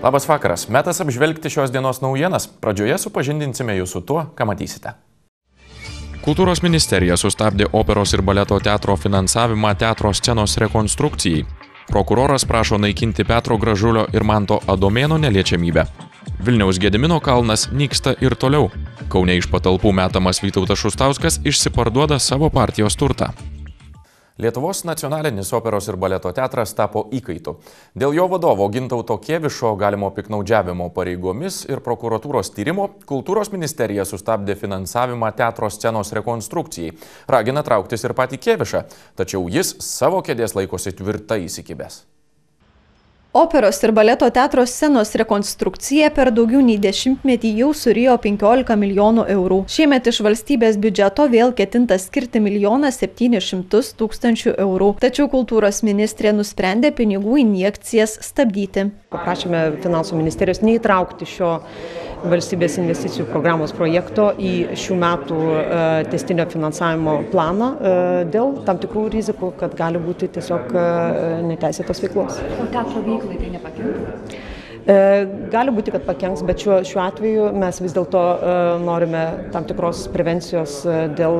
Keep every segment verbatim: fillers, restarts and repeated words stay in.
Labas vakaras. Metas apžvelgti šios dienos naujienas. Pradžioje supažindinsime jūs su tuo, ką matysite. Kultūros ministerija sustabdė operos ir baleto teatro finansavimą teatro scenos rekonstrukcijai. Prokuroras prašo naikinti Petro Gražulio ir Manto Adomėno neliečiamybę. Vilniaus Gedimino kalnas nyksta ir toliau. Kaune iš patalpų metamas Vytautas Šustauskas išsiparduoda savo partijos turtą. Lietuvos nacionalinis operos ir baleto teatras tapo įkaitu. Dėl jo vadovo Gintauto Kėvišo galimo piknaudžiavimo pareigomis ir prokuratūros tyrimo Kultūros ministerija sustabdė finansavimą teatro scenos rekonstrukcijai. Ragina trauktis ir patį Kėvišą, tačiau jis savo kėdės laikosi tvirtai įsikibęs. Operos ir baleto teatro scenos rekonstrukcija per daugiau nei dešimtmetį jau surijo penkiolika milijonų eurų. Šiemet iš valstybės biudžeto vėl ketinta skirti milijoną septynis šimtus tūkstančių eurų. Tačiau kultūros ministrė nusprendė pinigų injekcijas stabdyti. Paprašėme finansų ministerijos neįtraukti šio valstybės investicijų programos projekto į šių metų tęstinio finansavimo planą dėl tam tikrų rizikų, kad gali būti tiesiog neteisėtos veiklos. O teatro veiklai tai nepakenks? Gali būti, kad pakenks, bet šiuo, šiuo atveju mes vis dėlto norime tam tikros prevencijos dėl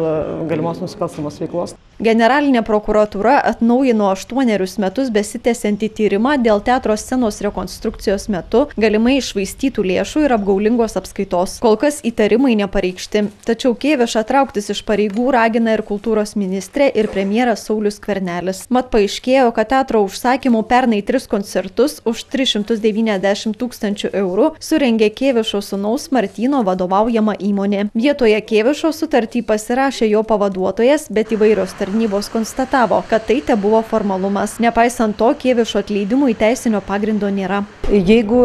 galimos nusikalstamos veiklos. Generalinė prokuratūra atnaujino aštuonerius metus besitęsiantį tyrimą dėl teatro scenos rekonstrukcijos metu galimai iššvaistytų lėšų ir apgaulingos apskaitos. Kol kas įtarimai nepareikšti. Tačiau Kėvišą trauktis iš pareigų ragina ir kultūros ministrė ir premjeras Saulius Skvernelis. Mat paaiškėjo, kad teatro užsakymų pernai tris koncertus už tris šimtus devyniasdešimt tūkstančių eurų surengė Kėvišo sūnaus Martyno vadovaujama įmonė. Vietoje Kėvišo sutartį pasirašė jo pavaduotojas, bet įvairios tarnybos konstatavo, kad tai tebuvo formalumas. Nepaisant to, Kėvišo atleidimui teisinio pagrindo nėra. Jeigu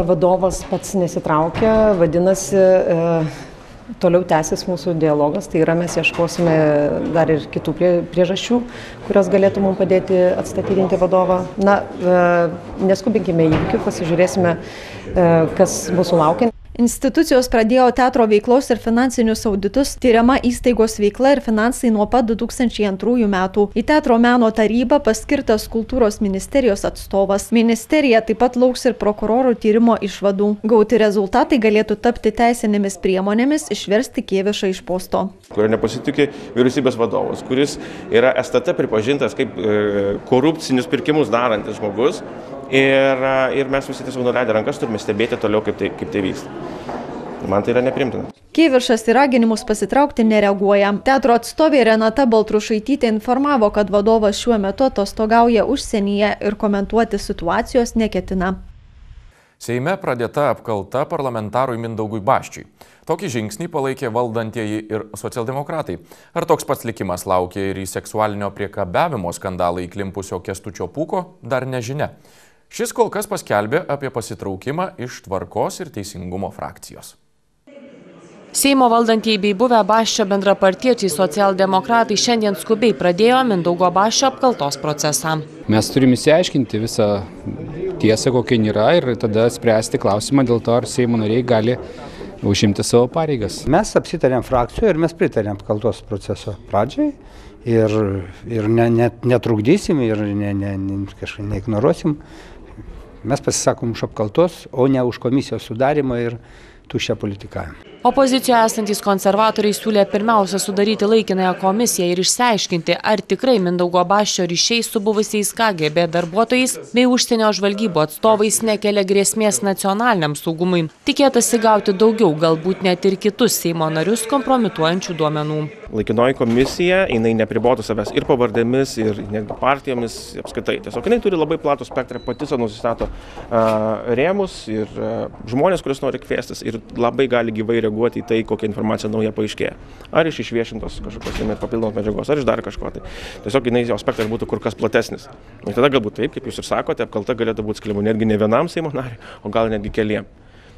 vadovas pats nesitraukia, vadinasi, toliau tęsis mūsų dialogas, tai yra mes ieškosime dar ir kitų priežasčių, kurios galėtų mums padėti atstatydinti vadovą. Na, neskubinkime įvykių, pasižiūrėsime, kas mūsų laukia. Institucijos pradėjo teatro veiklos ir finansinius auditus, tyriama įstaigos veikla ir finansai nuo pat du tūkstančiai antrųjų metų. Į teatro meno tarybą paskirtas kultūros ministerijos atstovas. Ministerija taip pat lauks ir prokurorų tyrimo išvadų. Gauti rezultatai galėtų tapti teisinėmis priemonėmis išversti Kėvišą iš posto. Kurio nepasitikė vyriausybės vadovas, kuris yra S T T pripažintas kaip korupcinius pirkimus darantis žmogus. Ir, ir mes visi tiesiog nuleidę rankas turime stebėti toliau, kaip tai, kaip tai vyksta. Man tai yra neprimtina. Kėvišas į raginimus pasitraukti nereaguoja. Teatro atstovė Renata Baltrušaitytė informavo, kad vadovas šiuo metu atostogauja užsienyje ir komentuoti situacijos neketina. Seime pradėta apkalta parlamentarui Mindaugui Baščiui. Tokį žingsnį palaikė valdantieji ir socialdemokratai. Ar toks pats likimas laukia ir į seksualinio priekabiavimo skandalą įklimpusio Kęstučio Pūko, dar nežinia. Šis kol kas paskelbė apie pasitraukimą iš Tvarkos ir Teisingumo frakcijos. Seimo valdantieji bei buvę Baščio bendrapartiečiai socialdemokratai šiandien skubiai pradėjo Mindaugo Baščio apkaltos procesą. Mes turime įsiaiškinti visą tiesą, kokia yra, ir tada spręsti klausimą dėl to, ar Seimo nariai gali užimti savo pareigas. Mes apsitarėm frakcijoje ir mes pritarėm apkaltos proceso pradžiai ir, ir ne, ne, netrukdysim ir ne, ne, ne, kažkaip neignoruosim. Mes pasisakom už apkaltos, o ne už komisijos sudarimą ir tuščią politikavimą. Opozicijoje esantys konservatoriai siūlė pirmiausia sudaryti laikinąją komisiją ir išsiaiškinti, ar tikrai Mindaugo Baščio ryšiai su buvusiais K G B darbuotojais bei užsienio žvalgybų atstovais nekelia grėsmės nacionaliniam saugumui. Tikėtasi gauti daugiau, galbūt net ir kitus Seimo narius kompromituojančių duomenų. Laikinoji komisija, jinai nepribotų savęs ir pavardėmis, ir netgi partijomis apskaitai. Tiesiog jinai turi labai platų spektrą, pati savo nusistato uh, rėmus ir uh, žmonės, kuris nori kviestis, ir labai gali gyvai reaguoti į tai, kokia informacija nauja paaiškėja. Ar iš išviešintos kažkokios papildomos medžiagos, ar iš dar kažko. Tai. Tiesiog jinai jo spektras būtų kur kas platesnis. Ir tada galbūt taip, kaip jūs ir sakote, apkalta galėtų būti skiriama netgi ne vienam Seimo nariui, o gal netgi keliem.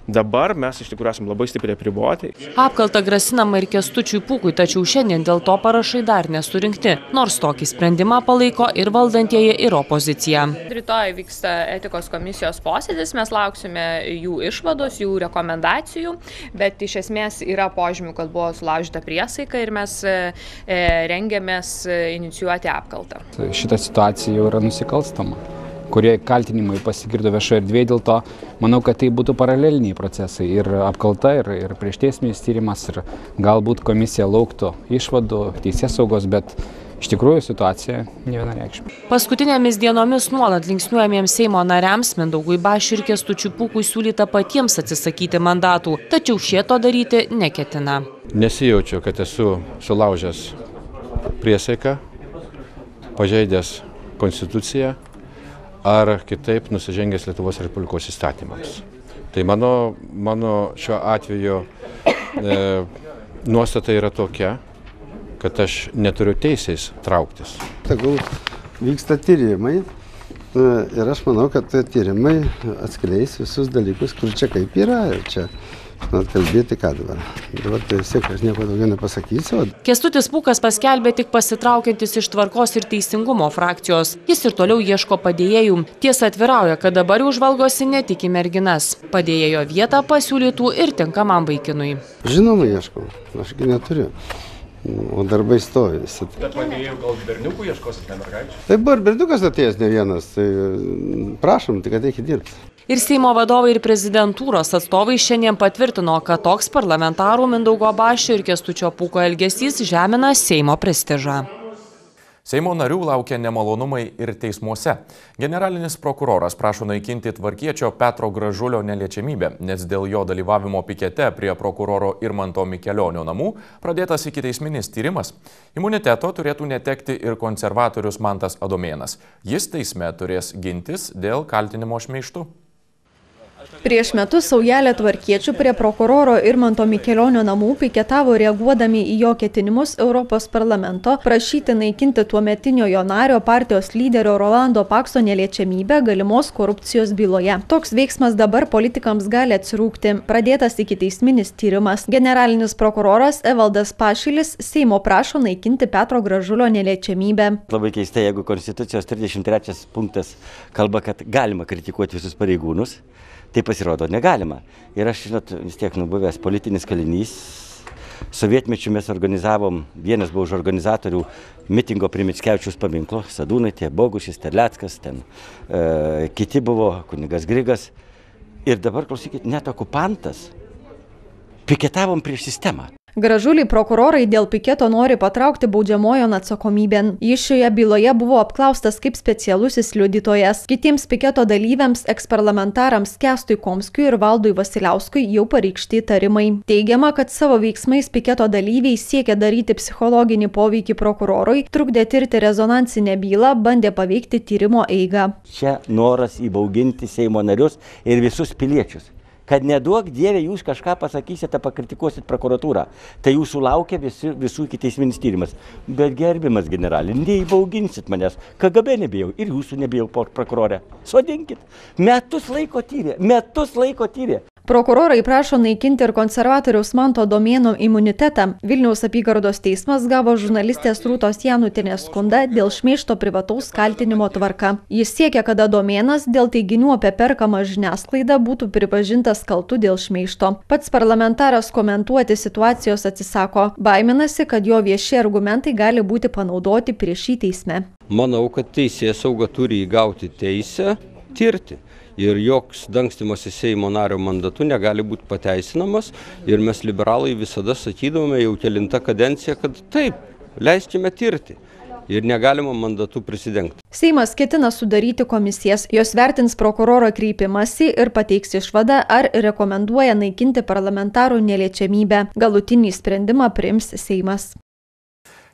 Dabar mes iš tikrųjų esame labai stipriai apriboti. Apkalta grasinama ir Kęstučiui Pūkui, tačiau šiandien dėl to parašai dar nesurinkti, nors tokį sprendimą palaiko ir valdantieji, ir opozicija. Rytoj vyksta etikos komisijos posėdis, mes lauksime jų išvados, jų rekomendacijų, bet iš esmės yra požymių, kad buvo sulaužyta priesaika ir mes rengiamės inicijuoti apkaltą. Šita situacija jau yra nusikalstama. kurie kaltinimai pasigirdo viešoje erdvėje, dėl to manau, kad tai būtų paraleliniai procesai ir apkalta, ir, ir priešteisminis tyrimas, ir galbūt komisija lauktų išvadų, teisėsaugos, bet iš tikrųjų situacija nevienareikšmė. Paskutinėmis dienomis nuolat linksniuojamiems Seimo nariams Mindaugui Basčiui ir Kęstučiui Pūkui siūlyta patiems atsisakyti mandatų, tačiau šie to daryti neketina. Nesijaučiu, kad esu sulaužęs priesaiką, pažeidęs konstituciją ar kitaip nusižengęs Lietuvos Respublikos įstatymams. Tai mano, mano šiuo atveju e, nuostata yra tokia, kad aš neturiu teisės trauktis. Tegul vyksta tyrimai ir aš manau, kad tie tyrimai atskleis visus dalykus, kur čia kaip yra ir čia žinot, kalbėti ką dabar. Dabar tai vis tiek aš nieko daugiau nepasakysiu. Kęstutis Pūkas paskelbė tik pasitraukiantis iš Tvarkos ir Teisingumo frakcijos. Jis ir toliau ieško padėjėjų. Tiesa atvirauja, kad dabar jau žvalgosi ne tik į merginas. Padėjėjo vietą pasiūlytų ir tinkamam vaikinui. Žinoma, ieškau. Ašgi neturiu. O darbai stovi visi. Bet padėjėjų gal berniukų ieškosit, ne mergaičių? Tai buvo ir berniukas atėjęs ne vienas, tai prašom, tik ateikit dirbti. Ir Seimo vadovai ir prezidentūros atstovai šiandien patvirtino, kad toks parlamentarų Mindaugo Basčio ir Kęstučio Pūko elgesys žemina Seimo prestižą. Seimo narių laukia nemalonumai ir teismuose. Generalinis prokuroras prašo naikinti tvarkiečio Petro Gražulio neliečiamybę, nes dėl jo dalyvavimo pikete prie prokuroro Irmanto Mikelionio namų pradėtas ikiteisminis tyrimas. Imuniteto turėtų netekti ir konservatorius Mantas Adomėnas. Jis teisme turės gintis dėl kaltinimo šmeižtu. Prieš metus saujelė tvarkiečių prie prokuroro Irmanto Mikelionio namų piketavo reaguodami į jo ketinimus Europos parlamento prašyti naikinti tuometinio jo nario partijos lyderio Rolando Pakso neliečiamybę galimos korupcijos byloje. Toks veiksmas dabar politikams gali atsirūkti. Pradėtas ikiteisminis tyrimas. Generalinis prokuroras Evaldas Pašilis Seimo prašo naikinti Petro Gražulio neliečiamybę. Labai keista, jeigu Konstitucijos trisdešimt trečias punktas kalba, kad galima kritikuoti visus pareigūnus. Tai pasirodo negalima. Ir aš, žinot, vis tiek nubuvęs politinis kalinys. Sovietmečiu mes organizavom, vienas buvo už organizatorių mitingo prie Mickevičiaus paminklo, Sadūnaitė, Bogušis, Terleckas, ten e, kiti buvo, kunigas Grigas. Ir dabar, klausykit, net okupantas piketavom prieš sistemą. Gražulį prokurorai dėl piketo nori patraukti baudžiamojon atsakomybėn. Jis šioje byloje buvo apklaustas kaip specialusis liudytojas. Kitiems piketo dalyviams, eksparlamentarams Kęstui Komskiui ir Valdui Vasiliauskui jau pareikšti įtarimai. Teigiama, kad savo veiksmais piketo dalyviai siekia daryti psichologinį poveikį prokurorui, trukdė tirti rezonansinę bylą, bandė paveikti tyrimo eigą. Čia noras įbauginti Seimo narius ir visus piliečius. Kad neduok Dieve, jūs kažką pasakysite, pakritikuosit prokuratūrą. Tai jūsų laukia visi, visų ikiteisminis tyrimas. Bet gerbiamas generalė, neįbauginsit manęs. K G B nebijau ir jūsų nebijau, prokurorė. Sodinkit. Metus laiko tyrė. Metus laiko tyrė. Prokurorai prašo naikinti ir konservatoriaus Manto Adomėno imunitetą. Vilniaus apygardos teismas gavo žurnalistės Rūtos Janutienės skundą dėl šmeižto privataus kaltinimo tvarka. Jis siekia, kad Adomėnas dėl teiginių apie perkamą žiniasklaidą būtų pripažintas kaltu dėl šmeižto. Pats parlamentaras komentuoti situacijos atsisako. Baiminasi, kad jo vieši argumentai gali būti panaudoti prieš jį teisme. Manau, kad teisėsauga turi įgauti teisę tirti. Ir joks dangstymasis Seimo nario mandatu negali būti pateisinamas. Ir mes liberalai visada sakydavome jau kelintą kadenciją, kad taip, leiskime tirti. Ir negalima mandatų prisidengti. Seimas ketina sudaryti komisijas. Jos vertins prokuroro kreipimąsi ir pateiks išvadą, ar rekomenduoja naikinti parlamentarų neliečiamybę. Galutinį sprendimą priims Seimas.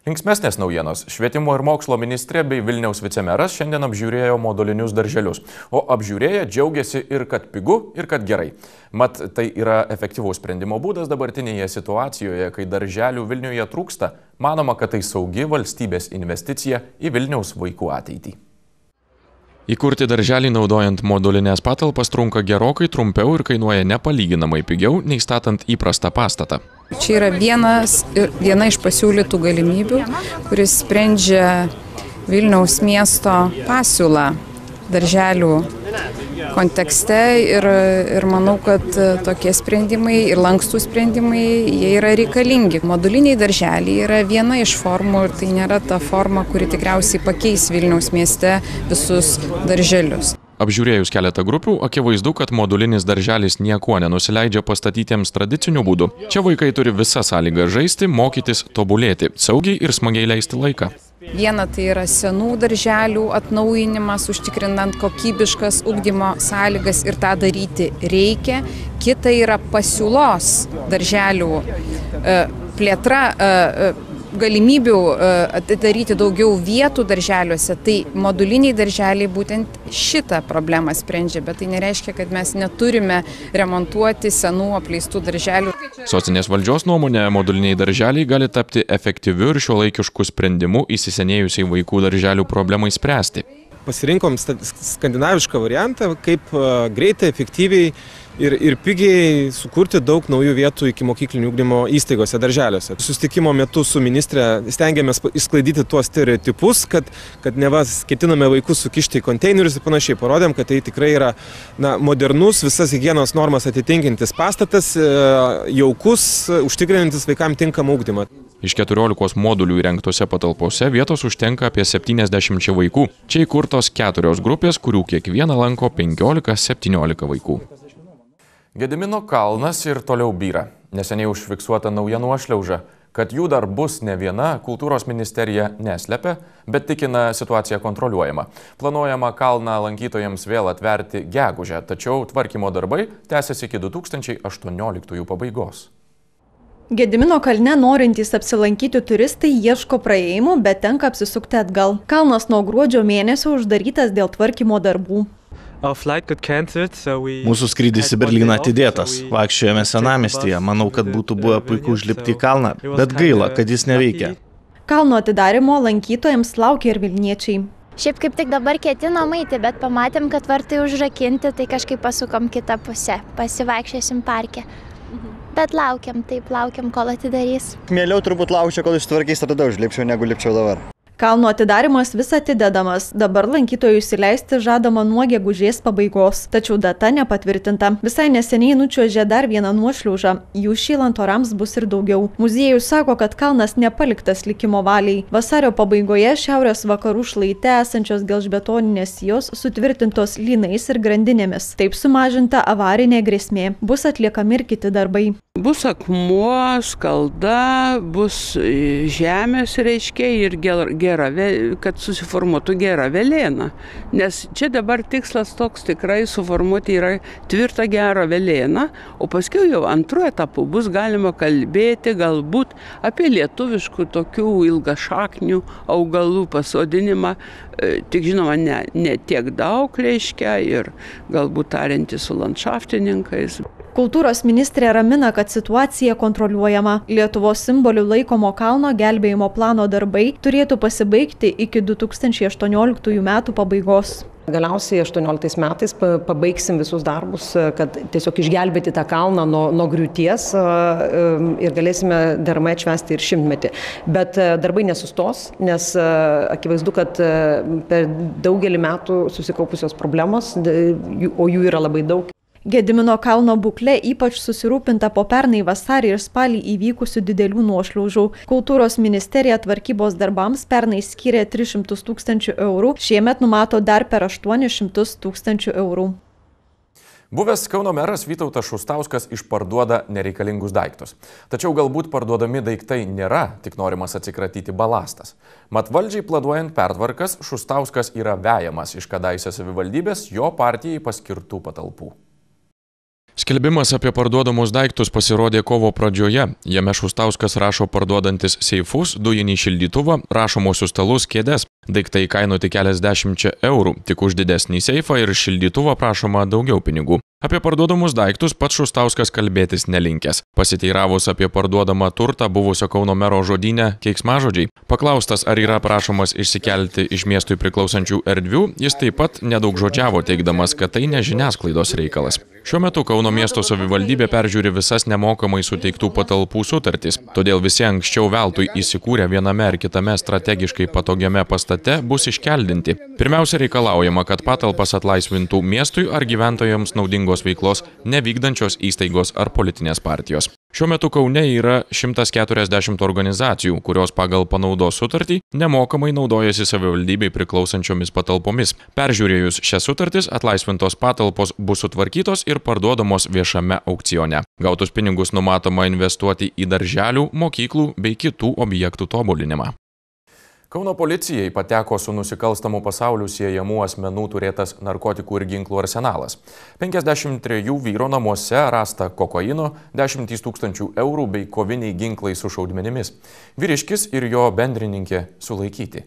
Linksmesnės naujienos. Švietimo ir mokslo ministrė bei Vilniaus vicemeras šiandien apžiūrėjo modulinius darželius. O apžiūrėję džiaugiasi ir kad pigu, ir kad gerai. Mat, tai yra efektyvaus sprendimo būdas dabartinėje situacijoje, kai darželių Vilniuje trūksta. Manoma, kad tai saugi valstybės investicija į Vilniaus vaikų ateitį. Įkurti darželį naudojant modulinės patalpas trunka gerokai trumpiau ir kainuoja nepalyginamai pigiau nei statant įprastą pastatą. Čia yra vienas, viena iš pasiūlytų galimybių, kuris sprendžia Vilniaus miesto pasiūlą darželių kontekste ir, ir manau, kad tokie sprendimai ir lankstų sprendimai, jie yra reikalingi. Moduliniai darželiai yra viena iš formų ir tai nėra ta forma, kuri tikriausiai pakeis Vilniaus mieste visus darželius. Apžiūrėjus keletą grupių, akivaizdu, kad modulinis darželis niekuo nenusileidžia pastatytiems tradiciniu būdu. Čia vaikai turi visą sąlygą žaisti, mokytis, tobulėti, saugiai ir smagiai leisti laiką. Viena tai yra senų darželių atnaujinimas, užtikrinant kokybiškas ugdymo sąlygas ir tą daryti reikia. Kita yra pasiūlos darželių plėtra, galimybių atidaryti daugiau vietų darželiuose, tai moduliniai darželiai būtent šitą problemą sprendžia, bet tai nereiškia, kad mes neturime remontuoti senų apleistų darželių. Sostinės valdžios nuomonė, moduliniai darželiai gali tapti efektyviu ir šiuolaikišku sprendimu įsisenėjusiai vaikų darželių problemai spręsti. Pasirinkom skandinavišką variantą, kaip greitai, efektyviai ir, ir pigiai sukurti daug naujų vietų iki mokyklinių ugdymo įstaigose, darželiuose. Susitikimo metu su ministre stengiamės išsklaidyti tuos stereotipus, kad, kad neva ketiname vaikus sukišti į konteinerius ir panašiai. Parodėm, kad tai tikrai yra na, modernus, visas higienos normas atitinkantis pastatas, jaukus, užtikrinantis vaikams tinkamą ugdymą. Iš keturiolikos modulių įrengtose patalpose vietos užtenka apie septyniasdešimt vaikų. Čia įkurtos keturios grupės, kurių kiekviena lanko penkiolika septyniolika vaikų. Gedimino kalnas ir toliau byra. Neseniai užfiksuota nauja nuošliauža. Kad jų dar bus ne viena, kultūros ministerija neslepia, bet tikina situaciją kontroliuojama. Planuojama kalną lankytojams vėl atverti gegužę, tačiau tvarkymo darbai tęsiasi iki du tūkstančiai aštuonioliktųjų pabaigos. Gedimino kalne norintys apsilankyti turistai ieško praėjimų, bet tenka apsisukti atgal. Kalnas nuo gruodžio mėnesio uždarytas dėl tvarkymo darbų. Mūsų skrydis į Berlyną atidėtas. Vaikščiojame senamiestyje. Manau, kad būtų buvę puiku užlipti į kalną, bet gaila, kad jis neveikia. Kalno atidarimo lankytojams laukia ir vilniečiai. Šiaip kaip tik dabar ketinom eiti, bet pamatėm, kad vartai užrakinti, tai kažkaip pasukom kitą pusę. Pasivaikščiosim parke. Bet laukiam, taip laukiam, kol atidarys. Mieliau turbūt laukčiau, kol ištvarkys, tada užlipčiau, negu lipčiau dabar. Kalno atidarimas vis atidedamas. Dabar lankytojus įleisti žadama nuo gegužės pabaigos. Tačiau data nepatvirtinta. Visai neseniai nučiuožė dar vieną nuošliaužą. Jų šylant orams bus ir daugiau. Muziejus sako, kad kalnas nepaliktas likimo valiai. Vasario pabaigoje šiaurės vakarų šlaite esančios gelžbetoninės sijos sutvirtintos lynais ir grandinėmis. Taip sumažinta avarinė grėsmė. Bus atliekami ir kiti darbai. Bus akmuo, skalda, bus žemės reiškia ir gera, kad susiformuotų gera velėna. Nes čia dabar tikslas toks tikrai suformuoti yra tvirtą gerą velėną, o paskui jau antruoju etapu bus galima kalbėti galbūt apie lietuviškų tokių ilgašaknių augalų pasodinimą, tik žinoma ne, ne tiek daug reiškia ir galbūt tariantys su landšaftininkais. Kultūros ministrė ramina, kad situacija kontroliuojama. Lietuvos simbolių laikomo kalno gelbėjimo plano darbai turėtų pasibaigti iki du tūkstančiai aštuonioliktųjų metų pabaigos. Galiausiai aštuonioliktais metais pabaigsim visus darbus, kad tiesiog išgelbėti tą kalną nuo, nuo griūties ir galėsime deramai atšvęsti ir šimtmetį. Bet darbai nesustos, nes akivaizdu, kad per daugelį metų susikaupusios problemos, o jų yra labai daug. Gedimino kalno būklė ypač susirūpinta po pernai vasarį ir spalį įvykusių didelių nuošliaužų. Kultūros ministerija tvarkybos darbams pernai skyrė tris šimtus tūkstančių eurų, šiemet numato dar per aštuonis šimtus tūkstančių eurų. Buvęs Kauno meras Vytautas Šustauskas išparduoda nereikalingus daiktus. Tačiau galbūt parduodami daiktai nėra, tik norimas atsikratyti balastas. Mat valdžiai planuojant pertvarkas, Šustauskas yra vejamas iš kadaise savivaldybės jo partijai paskirtų patalpų. Skelbimas apie parduodamus daiktus pasirodė kovo pradžioje. Jame Šustauskas rašo parduodantis seifus, dujinį šildytuvą, rašomosius stalus, kėdes. Daiktai kainuoti keliasdešimčia eurų, tik už didesnį seifą ir šildytuvą prašoma daugiau pinigų. Apie parduodamus daiktus pats Šustauskas kalbėtis nelinkęs. Pasiteiravus apie parduodamą turtą buvusio Kauno mero žodyne keiksmažodžiai. Paklaustas, ar yra prašomas išsikelti iš miestui priklausančių erdvių, jis taip pat nedaug žodžiavo, teigdamas, kad tai ne žiniasklaidos reikalas. Šiuo metu Kauno miesto savivaldybė peržiūri visas nemokamai suteiktų patalpų sutartys, todėl visi anksčiau veltui įsikūrę viename ar kitame strategiškai patogiame pastate pastate bus iškeldinti. Pirmiausia, reikalaujama, kad patalpas atlaisvintų miestui ar gyventojams naudingos veiklos nevykdančios įstaigos ar politinės partijos. Šiuo metu Kaune yra šimtas keturiasdešimt organizacijų, kurios pagal panaudos sutartį nemokamai naudojasi savivaldybei priklausančiomis patalpomis. Peržiūrėjus šias sutartis, atlaisvintos patalpos bus sutvarkytos ir parduodamos viešame aukcione. Gautus pinigus numatoma investuoti į darželių, mokyklų bei kitų objektų tobulinimą. Kauno policijai pateko su nusikalstamu pasauliu siejamų asmenų turėtas narkotikų ir ginklų arsenalas. penkiasdešimt trejų vyro namuose rasta kokaino, dešimt tūkstančių eurų bei koviniai ginklai su šaudmenimis. Vyriškis ir jo bendrininkė sulaikyti.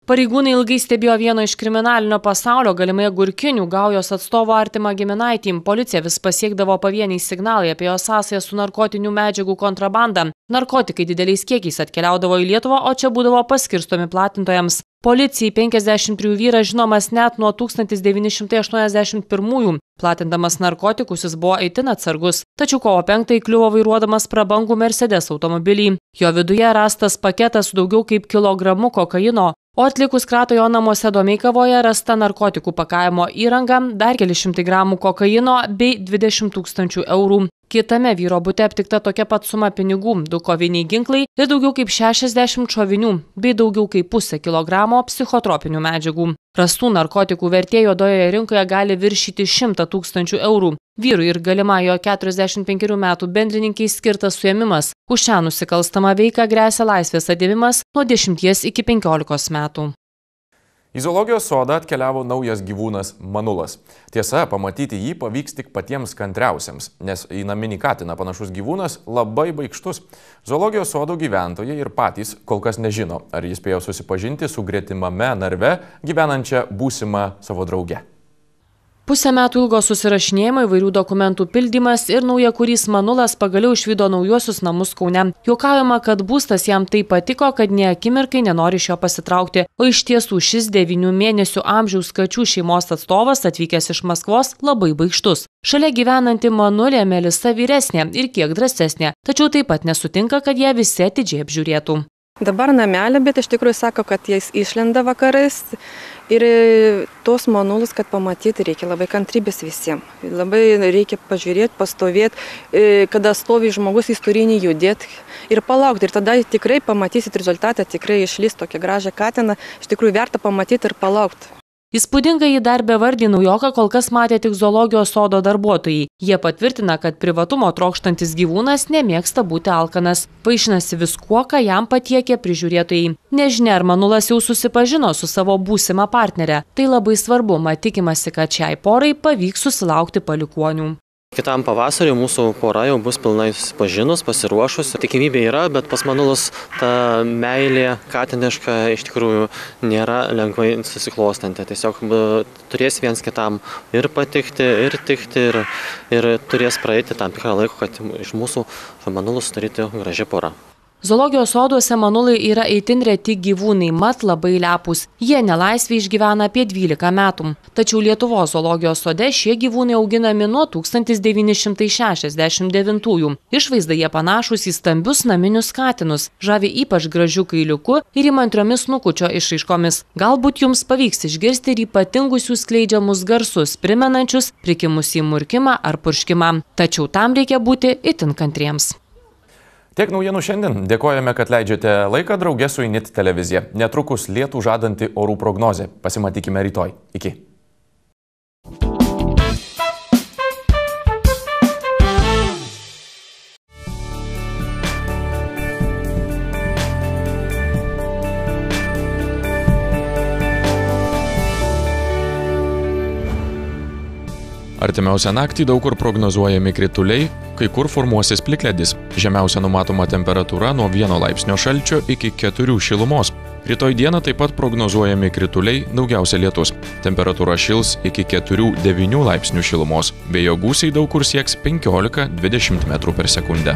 Pareigūnai ilgai stebėjo vieno iš kriminalinio pasaulio, galimai agurkinių gaujos atstovo artimą giminaitį. Policija vis pasiekdavo pavieniai signalai apie jo sąsają su narkotinių medžiagų kontrabanda. Narkotikai dideliais kiekiais atkeliaudavo į Lietuvą, o čia būdavo paskirstomi platintojams. Policijai penkiasdešimt trejų vyras žinomas net nuo tūkstantis devyni šimtai aštuoniasdešimt pirmųjų. Platindamas narkotikus jis buvo itin atsargus, tačiau kovo penktąją įkliuvo vairuodamas prabangų Mercedes automobilį. Jo viduje rastas paketas su daugiau kaip kilogramu kokaino, o atlikus kratą jo namuose Domeikavoje rasta narkotikų pakavimo įranga, dar keli šimtai gramų kokaino bei dvidešimt tūkstančių eurų. Kitame vyro bute aptikta tokia pat suma pinigų, du koviniai ginklai ir daugiau kaip šešiasdešimt šovinių, bei daugiau kaip pusę kilogramo psichotropinių medžiagų. Rastų narkotikų vertė juodojoje rinkoje gali viršyti šimtą tūkstančių eurų. Vyrui ir galima jo keturiasdešimt penkerių metų bendrininkiai skirtas suėmimas. Už šią nusikalstamą veiką gresia laisvės atėmimas nuo dešimties iki penkiolikos metų. Į zoologijos sodą atkeliavo naujas gyvūnas manulas. Tiesa, pamatyti jį pavyks tik patiems kantriausiems, nes į naminį katiną panašus gyvūnas labai baikštus. Zoologijos sodo gyventojai ir patys kol kas nežino, ar jis spėjo susipažinti su gretimame narve gyvenančia būsimą savo draugę. Pusę metų ilgo susirašinėjimo, įvairių dokumentų pildymas ir naujakurys manulas pagaliau išvydo naujuosius namus Kaune. Juokaujama, kad būstas jam taip patiko, kad nė akimirkai nenori iš jo pasitraukti. O iš tiesų šis devynių mėnesių amžiaus kačių šeimos atstovas atvykęs iš Maskvos labai baikštus. Šalia gyvenanti manulė Melisa vyresnė ir kiek drąsesnė, tačiau taip pat nesutinka, kad ją visi atidžiai apžiūrėtų. Dabar namelė, bet iš tikrųjų sako, kad jis išlenda vakarais ir tos manulus, kad pamatyti, reikia labai kantrybės visiems. Labai reikia pažiūrėti, pastovėti, kada stovi žmogus, jis turi nejudėti ir palaukti. Ir tada tikrai pamatysit rezultatą, tikrai išlys tokią gražią katiną, iš tikrųjų verta pamatyti ir palaukti. Įspūdingą jį dar bevardį naujoką kol kas matė tik zoologijos sodo darbuotojai. Jie patvirtina, kad privatumo trokštantis gyvūnas nemėgsta būti alkanas. Vaišinasi viskuo, ką jam patiekė prižiūrėtojai. Nežinia, ar manulas jau susipažino su savo būsima partnere. Tai labai svarbu, mat tikimasi, kad šiai porai pavyks susilaukti palikuonių. Kitam pavasariu mūsų pora jau bus pilnai susipažinus, pasiruošus. Tikimybė yra, bet pas manulus ta meilė katiniška iš tikrųjų nėra lengvai susiklostanti. Tiesiog turės viens kitam ir patikti, ir tikti, ir, ir turės praeiti tam tikrą laiką, kad iš mūsų manulus sudaryti graži pora. Zoologijos soduose manulai yra itin reti gyvūnai, mat labai lepūs. Jie nelaisvėje išgyvena apie dvylika metų. Tačiau Lietuvos zoologijos sode šie gyvūnai auginami nuo tūkstantis devyni šimtai šešiasdešimt devintųjų. Išvaizda jie panašūs į stambius naminius katinus, žavi ypač gražiu kailiuku ir įmantriomis snukučio išraiškomis. Galbūt jums pavyks išgirsti ir ypatingus jų skleidžiamus garsus, primenančius prikimusį murkimą ar purškimą. Tačiau tam reikia būti itin kantriems. Tiek naujienų šiandien. Dėkojame, kad leidžiate laiką drauge su Init televizija. Netrukus lietų žadanti orų prognozė. Pasimatykime rytoj. Iki. Artimiausią naktį daug kur prognozuojami krituliai, kai kur formuosis plikledis. Žemiausia numatoma temperatūra nuo vieno laipsnio šalčio iki keturių šilumos. Rytoj dieną taip pat prognozuojami krituliai, daugiausia lietus. Temperatūra šils iki keturių devynių laipsnių šilumos. Vėjo gūsiai daug kur sieks penkiolika dvidešimt metrų per sekundę.